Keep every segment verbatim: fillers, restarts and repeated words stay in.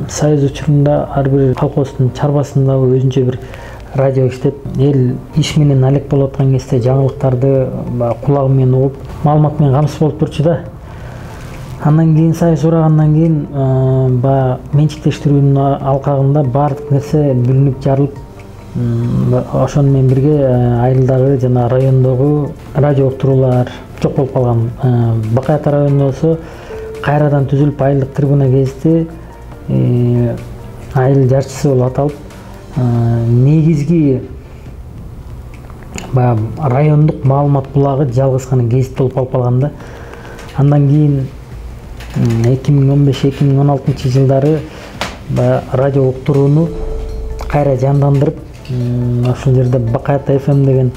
Союз учурунда ар бир колхоздун чарбасында өзүнчө бир радио иштеп, эл иш менен алек болуп аткан кезде жаңылыктарды кулагы менен угуп, маалымат менен камсыз болуп турчу да. Андан кийин Союз урагандан кийин баягы менчиктештирүүнүн алкагында баардык нерсе бүлүнүп жарылып, ошону менен бирге айылдагы жана райондогу радио уктуруулар жок болуп калган. Бакай Ата районунда болсо кайрадан түзүлүп, айылдык трибуна кезди айыл жарчысы болуп аталып, негизги баягы райондук маалымат булагы жалгыз гана гезит болуп калып калган да. Андан кийин эки миң он беш эки миң он алтынчы жылдары радио уктурууну кайра жандандырып, ошол жерде Бакай Ата эф эм деген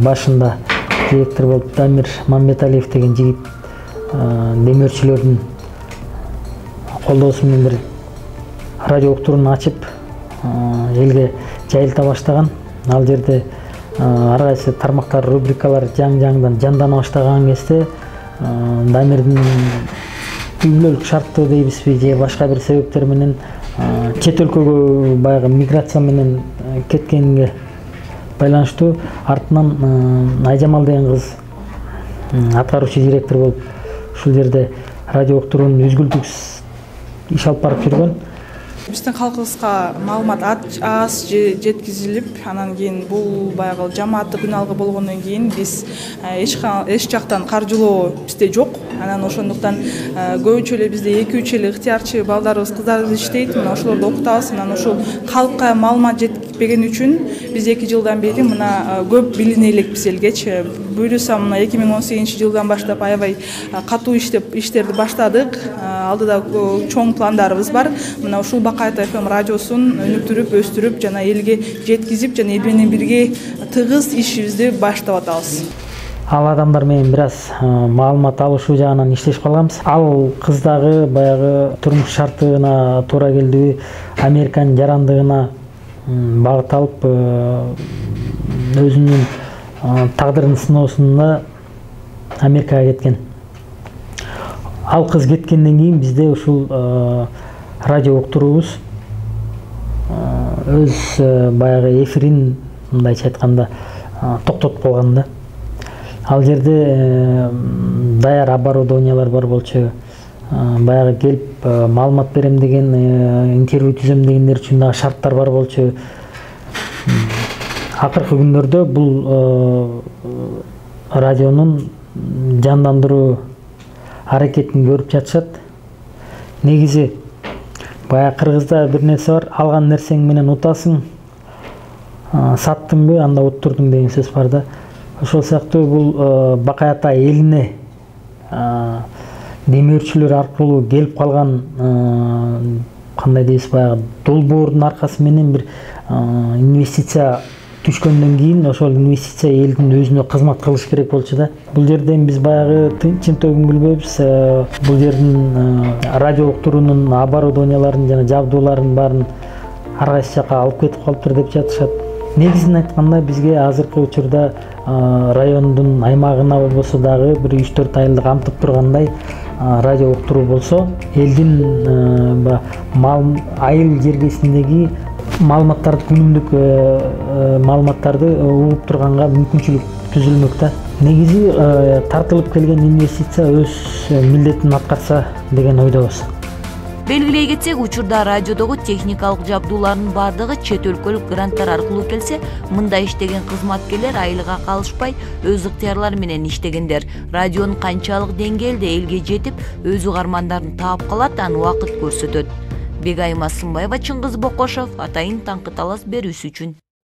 башында директор болуп Дамир Мамбеталиев деген жигит демөөрчүлөрдүн колдоосу менен бир радио уктурууну ачып, элге жайылта баштаган. Ал жерде ар кайсы тармактар, рубрикалар жаң-жаңдан жандана баштаган кезде Дамирдин үй бүлөлүк шарттуу дейбизби же башка бир себептер менен чет өлкөгө баягы миграция менен кеткенге байланыштуу артынан Айжамал деген кыз аткаруучу директор болуп ушул жерде радио уктуруунун үзгүлтүксүз иш алып барып жүргөн. Биздин калкыбызга маалымат аз жеткизилип, анан кийин бул баягы жамааттык күн алгы болгондон кийин биз эч жактан каржылоо бизде жок. Анан ошондуктан көбүнчө эле бизде эки үч эле ыктыярчы балдарыбыз, кыздарыбыз иштейт. Мына ошолорду окутабыз. Анан ошол калкка маалымат жетпеген үчүн биз эки жылдан бери мына көп билине элекпиз элгечи. Буюрса мына эки миң он сегизинчи жылдан баштап аябай катуу иштеп иштерди баштадык. Алдыда чоң пландарыбыз бар. Мына ушул Бакай Ата эф эм радиосун өнүктүрүп, өстүрүп жана элге жеткизип жана эл менен бирге тыгыз ишибизди баштап атабыз. Ал адамдар менен бир аз маалымат алышуу жагынан иштешип калганбыз. Ал кыз дагы баягы турмуш шартына туура келдиби, Американын жарандыгына багыт алып, өзүнүн тагдырын сыноосунда Америкага кеткен. Ал кыз кеткенден кийин бизде ушул радио уктуруубуз өз баягы эфирин, мындайча айтканда, токтотуп калган да. Ал жерде даяр оборудованиялар бар болчу, баягы келип маалымат берем деген, интервью түзөм дегендер үчүн дагы шарттар бар болчу. Акыркы күндөрдө бул радионун жандандыруу аракетин көрүп жатышат. Негизи баягы кыргызда бир нерсе бар, алган нерсең менен утасың, саттыңбы, анда уттурдуң деген сөз бар да. Ошол сыяктуу бул Бакай Ата элине демөөрчүлөр аркылуу келип калган, кандай дейбиз, баягы долбоордун аркасы менен бир инвестиция түшкөндөн кийин ошол инвестиция элдин өзүнө кызмат кылыш керек болчу да. Бул жерден биз баягы чынтөгүн билбейбиз. Бул жердин радио уктуруунун оборудованияларын жана жабдууларын баарын ар кайсы жака алып кетип калыптыр деп жатышат. Негизин айтканда бизге азыркы учурда райондун аймагына болбосо дагы бир үч төрт айылды камтып тургандай радио уктуруу болсо, элдин айыл жергесиндеги маалыматтарды, күнүмдүк маалыматтарды угуп турганга мүмкүнчүлүк түзүлмөк да. Негизи тартылып келген инвестиция өз милдетин аткарса деген ойдобуз. Белгилей кетсек, учурда радиодогу техникалык жабдуулардын бардыгы чет өлкөлүк гранттар аркылуу келсе, мында иштеген кызматкерлер айылга калышпай өз ыктыярлары менен иштегендер. Радионун канчалык деңгээлде элге жетип, өз угармандарын таап калат, аны убакыт көрсөтөт. Бегайым Асымбаева, Чыңгыз Бокошов, Атайын таңкы талас берүүсү үчүн.